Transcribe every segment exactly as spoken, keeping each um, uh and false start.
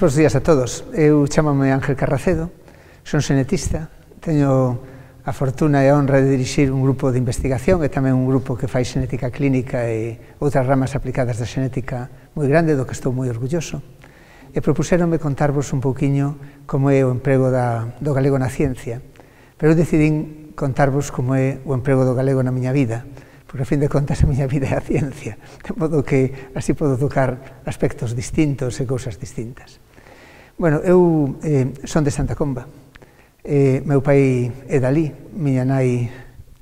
Bos días a todos. Eu chamame Ángel Carracedo, son xenetista, teño a fortuna e a honra de dirixir un grupo de investigación e tamén un grupo que fai xenética clínica e outras ramas aplicadas da xenética moi grande, do que estou moi orgulloso. E propuxéronme contarvos un pouquiño como é o emprego da, do galego na ciencia, pero eu decidín contarvos como é o emprego do galego na miña vida, porque, a fin de contas, a miña vida é a ciencia, de modo que así podo tocar aspectos distintos e cousas distintas. Bueno, eu eh, son de Santa Comba, eh, meu pai é dali, miña nai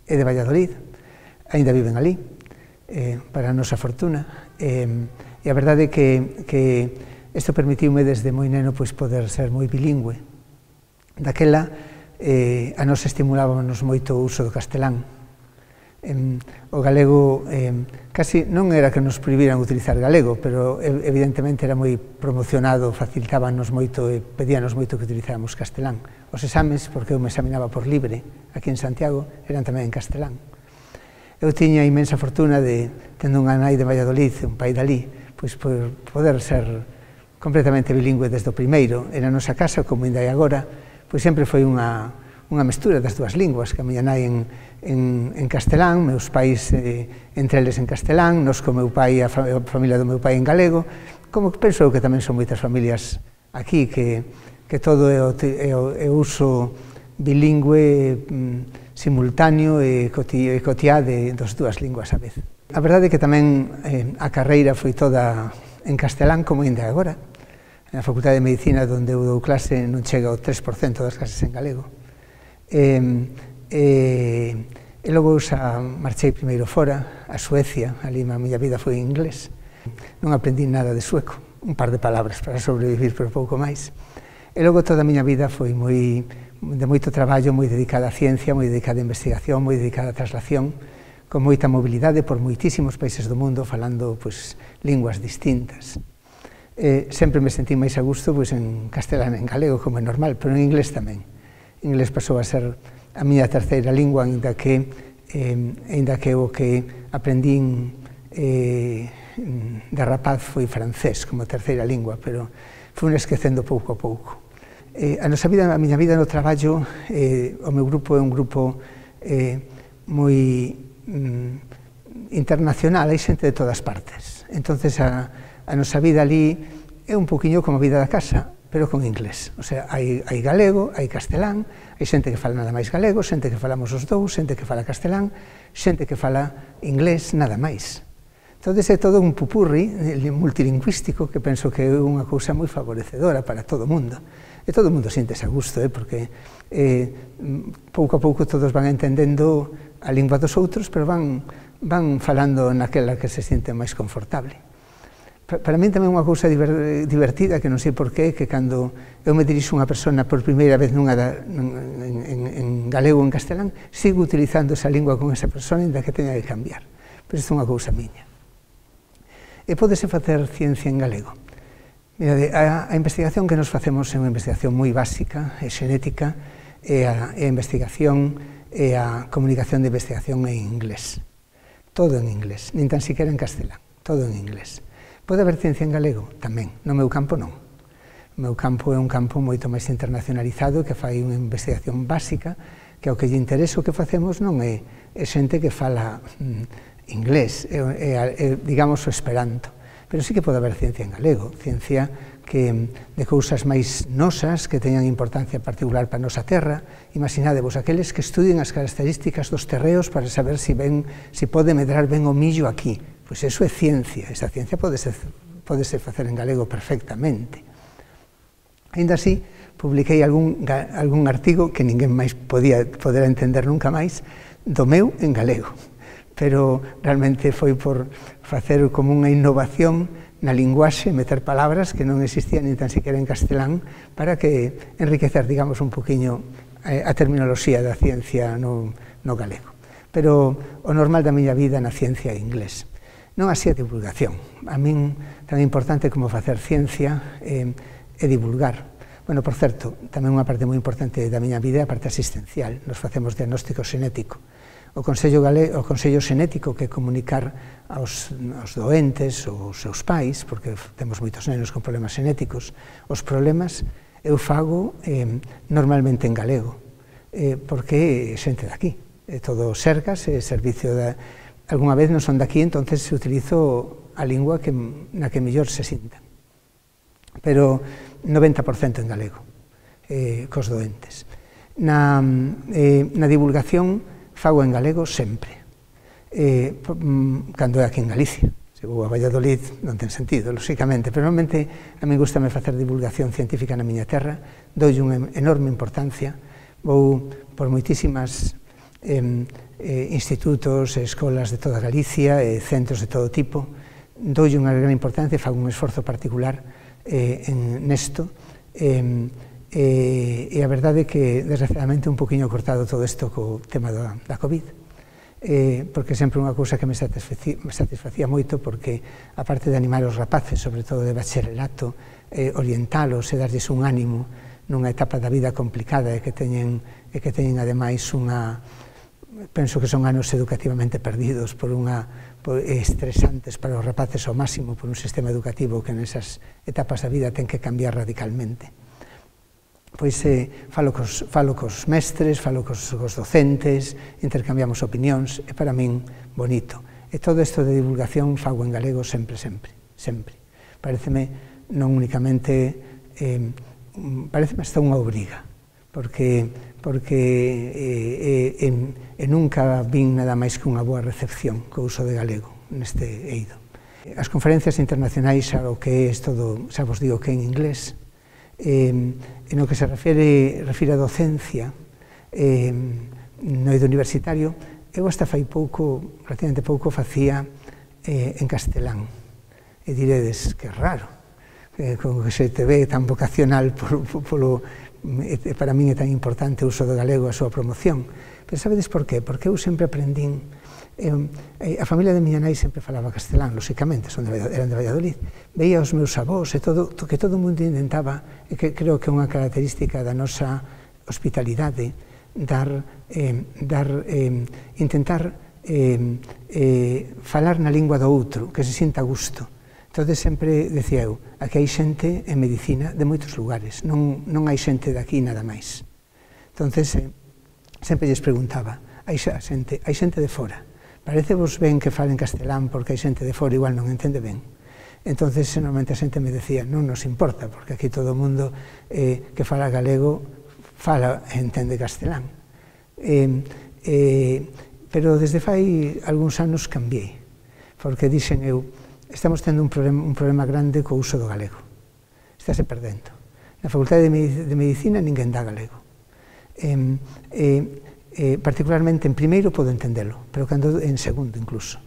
é de Valladolid, aínda viven ali, eh, para a nosa fortuna, eh, e a verdade é que, que isto permitiume desde moi neno pois, poder ser moi bilingüe. Daquela, eh, a nos estimulábamos moito o uso do castelán. Eh, o galego, eh, casi non era que nos prohibiran utilizar galego, pero evidentemente era moi promocionado, facilitábanos moito e pedíanos moito que utilizáramos castelán. Os exames, porque eu me examinaba por libre aquí en Santiago, eran tamén en castelán. Eu tiña a inmensa fortuna de, tendo unha nai de Valladolid, un pai dali, pois por poder ser completamente bilingüe desde o primeiro. En a nosa casa, como ainda é agora, pois sempre foi unha, unha mestura das dúas linguas, que a miña nai en, en, en castelán, meus pais eh, entre eles en castelán, nos co meu pai, a, fa, a familia do meu pai en galego, como penso que tamén son moitas familias aquí, que, que todo é o, é o, é o uso bilingüe mm, simultáneo e cotiá de das dúas linguas a vez. A verdade é que tamén eh, a carreira foi toda en castelán, como ainda agora. Na Facultade de Medicina, onde eu dou clase, non chega ao tres por cento das clases en galego. E, e, e logo xa marchei primeiro fora, a Suecia, ali a miña vida foi en inglés. Non aprendí nada de sueco, un par de palabras para sobrevivir, pero pouco máis. E logo toda a miña vida foi moi, de moito traballo, moi dedicada á ciencia, moi dedicada á investigación, moi dedicada á traslación, con moita mobilidade por moitísimos países do mundo, falando pois, linguas distintas. Eh, sempre me sentí máis a gusto pois, en castelán e en galego, como é normal, pero en inglés tamén. En inglés pasou a ser a miña terceira lingua, ainda que, eh, ainda que o que aprendín eh, de rapaz foi francés como terceira lingua, pero fui esquecendo pouco a pouco. Eh, a nosa vida, a miña vida no traballo, eh, o meu grupo é un grupo eh, moi mm, internacional, hai xente de todas partes. Entonces, a, a nosa vida ali é un poquinho como a vida da casa, pero con inglés. O sea, hai, hai galego, hai castelán, hai xente que fala nada máis galego, xente que falamos os dous, xente que fala castelán, xente que fala inglés, nada máis. Entón, é todo un pupurri multilingüístico que penso que é unha cousa moi favorecedora para todo o mundo. E todo o mundo siente-se a gusto, eh, porque eh, pouco a pouco todos van entendendo a lingua dos outros, pero van, van falando naquela que se siente máis confortable. Para min tamén unha cousa divertida, que non sei por qué, que cando eu me dirixo unha persona por primeira vez nunha da, en, en, en galego ou en castelán, sigo utilizando esa lingua con esa persona, ainda que teña que cambiar. Pero isto é unha cousa miña. E pódese facer ciencia en galego. Mirade, a, a investigación que nos facemos é unha investigación moi básica, é xenética, e a, e a investigación e a comunicación de investigación en inglés. Todo en inglés, nin tan siquiera en castelán, todo en inglés. Pode haber ciencia en galego? Tamén. No meu campo non. O meu campo é un campo moito máis internacionalizado, que fai unha investigación básica, que ao que lle interesa o que facemos non é, é xente que fala mm, inglés, é, é, é, digamos, o esperanto. Pero sí que pode haber ciencia en galego, ciencia que, de cousas máis nosas, que teñan importancia particular para a nosa terra. Imaginadevos, aqueles que estudien as características dos terreos para saber se si, si pode medrar ben o millo aquí. Pois eso é ciencia, esa ciencia podese, podese facer en galego perfectamente. Ainda así, publiquei algún, algún artigo que ninguén máis podía poder entender nunca máis, do meu en galego. Pero realmente foi por facer como unha innovación na linguaxe, meter palabras que non existían ni tan siquiera en castelán, para que enriquecer, digamos, un poquinho a terminoloxía da ciencia no, no galego. Pero o normal da miña vida na ciencia é inglés. Non así a divulgación. A min tan importante como facer ciencia é, é divulgar. Bueno, por certo, tamén unha parte moi importante da miña vida é a parte asistencial. Nos facemos diagnóstico xenético. O Consello, Gale, o Consello Xenético, que é comunicar aos, aos doentes, aos seus pais, porque temos moitos nenos con problemas xenéticos, os problemas eu fago eh, normalmente en galego, eh, porque é xente daqui, é todo Sergas, é servicio da... Alguna vez non son daqui, entonces utilizo a lingua que, na que mellor se sinta. Pero noventa por cento en galego, eh, cos doentes. Na, eh, na divulgación fago en galego sempre, eh, cando é aquí en Galicia. Se vou a Valladolid non ten sentido, lóxicamente, pero normalmente a mí gustame facer divulgación científica na miña terra, doi unha enorme importancia, vou por moitísimas eh, eh, institutos, escolas de toda Galicia, eh, centros de todo tipo, doi unha gran importancia, fago un esforzo particular eh, en nesto, eh, eh, e a verdade é que desgraciadamente un poquinho cortado todo isto co tema da, da COVID, Eh, porque sempre unha cousa que me satisfacía, me satisfacía moito, porque aparte de animar os rapaces, sobre todo de bacharelato, eh, orientalos e darlles un ánimo nunha etapa da vida complicada e que teñen, e que teñen ademais unha, penso que son anos educativamente perdidos por unha, por, estresantes para os rapaces ao máximo por un sistema educativo que nesas etapas da vida ten que cambiar radicalmente. Pois eh, falo, cos, falo cos mestres, falo cos, cos docentes, intercambiamos opinións, é para min bonito. E todo isto de divulgación fago en galego sempre, sempre, sempre. Pareceme non únicamente, eh, pareceme hasta unha obriga, porque, porque eh, eh, e nunca vin nada máis que unha boa recepción co uso de galego neste eido. As conferencias internacionais, xa o que é todo, xa vos digo que en inglés, Eh, en o que se refere, refire a docencia eh, no eido universitario, eu hasta fai pouco, relativamente pouco, facía eh, en castelán. E diredes, que raro, eh, como que se te ve tan vocacional por, por, polo, eh, para min é tan importante o uso do galego, a súa promoción. Pero sabedes por qué? Porque eu sempre aprendín. Eh, a familia de miña nai sempre falaba castelán, lóxicamente, son de, eran de Valladolid. Veía os meus avós e todo, que todo o mundo intentaba, e que creo que é unha característica da nosa hospitalidade, dar, eh, dar, eh, intentar eh, eh, falar na lingua do outro, que se sinta a gusto. Entón, sempre decía eu, aquí hai xente en medicina de moitos lugares, non, non hai xente de aquí nada máis. Entón, eh, sempre lles preguntaba, hai xente, hai xente de fora, parecevos ben que falen castelán porque hai xente de fora igual non entende ben. Entón, normalmente a xente me decía, non nos importa, porque aquí todo o mundo eh, que fala galego fala e entende castelán. Eh, eh, pero desde fai algúns anos cambiei, porque dixen eu, estamos tendo un problema, un problema grande co uso do galego. Estáse perdendo. Na Facultade de Medicina ninguén dá galego. Eh, eh, Eh, particularmente en primeiro podo entendelo, pero cando en segundo incluso.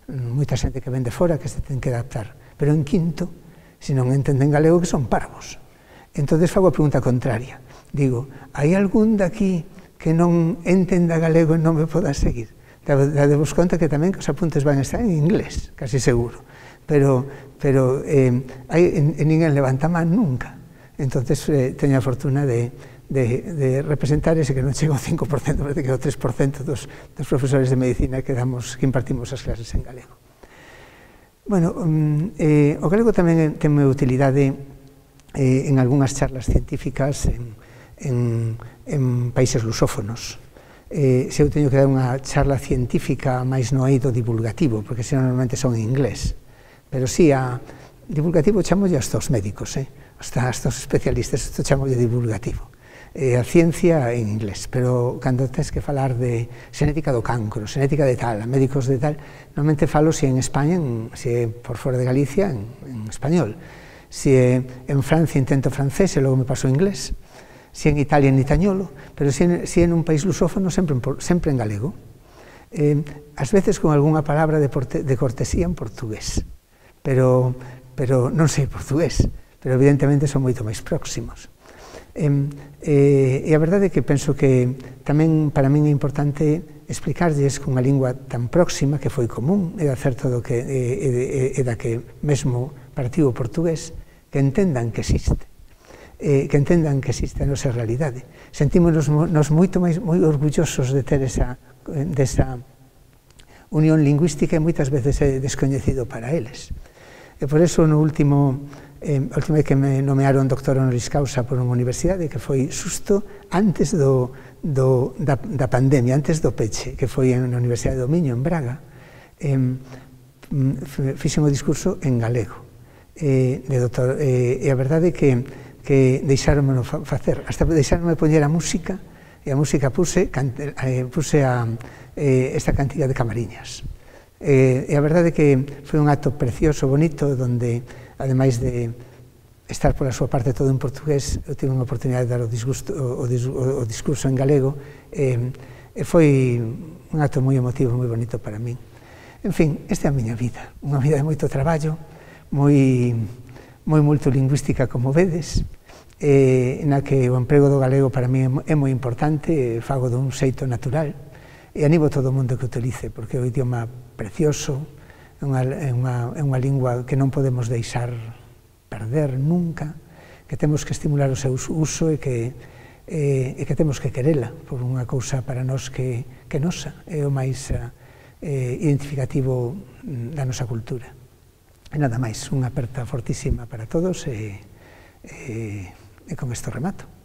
Moita xente que ven de fora que se ten que adaptar, pero en quinto, se non entenden galego, que son parvos. Entón, fago a pregunta contraria. Digo, hai algún daqui que non entenda galego e non me poda seguir? Dadevos conta que tamén que os apuntes van a estar en inglés, casi seguro, pero, pero eh, hai, en, en ninguén levanta man nunca. Entón, eh, teño a fortuna de De, de representar ese que non chega ao cinco por cento, parece que é o tres por cento dos, dos profesores de medicina que, damos, que impartimos as clases en galego. Bueno, um, eh, o galego tamén ten utilidade eh, en algunhas charlas científicas en, en, en países lusófonos. Eh, se eu teño que dar unha charla científica máis no eido divulgativo, porque se normalmente son en inglés, pero si, a divulgativo chamolle hasta os médicos, eh? hasta, hasta os especialistas, isto chamolle divulgativo. Eh, a ciencia en inglés, pero cando tens que falar de xenética do cancro, xenética de tal, a médicos de tal, normalmente falo se en España, en, se por fora de Galicia, en, en español. Se en Francia intento francés e logo me paso inglés. Se en Italia en itañolo, pero se en, se en un país lusófono sempre en, sempre en galego. Eh, ás veces con algunha palabra de, porte, de cortesía en portugués, pero, pero non sei portugués, pero evidentemente son moito máis próximos. Eh, eh, e a verdade é que penso que tamén para min é importante explicarlles con unha lingua tan próxima que foi común e da certo do que, e, e, e da que mesmo partiu o portugués, que entendan que existe. eh, que entendan que existe a nosa realidade. Sentímonos nos moito máis moi orgullosos de ter esa, desa unión lingüística e moitas veces é descoñecido para eles. E por eso, no último, eh, a última vez que me nomearon doctor honoris causa por unha universidade, que foi xusto antes do, do, da, da pandemia, antes do peche, que foi na Universidade do Miño, en Braga, eh, fixen o discurso en galego. Eh, de doctor, eh, e a verdade é que, que deixáromelo facer, hasta deixárome poñer a música, e a música puse, cante, eh, puse a, eh, esta cantiga de Camariñas. Eh, e a verdade é que foi un acto precioso, bonito, donde, ademais de estar pola súa parte todo en portugués, eu tive unha oportunidade de dar o, disgusto, o, o, o discurso en galego, e eh, foi un acto moi emotivo, moi bonito para min. En fin, esta é a miña vida, unha vida de moito traballo, moi, moi multilingüística, como vedes, eh, na que o emprego do galego para mí é moi importante, fago dun xeito natural, e animo todo o mundo que utilice, porque é un idioma precioso, é unha, é unha, é unha lingua que non podemos deixar perder nunca, que temos que estimular o seu uso e que, e, e que temos que querela, por unha cousa para nós que, que nosa, é o máis eh, identificativo da nosa cultura. E nada máis, unha aperta fortísima para todos e, e, e con isto remato.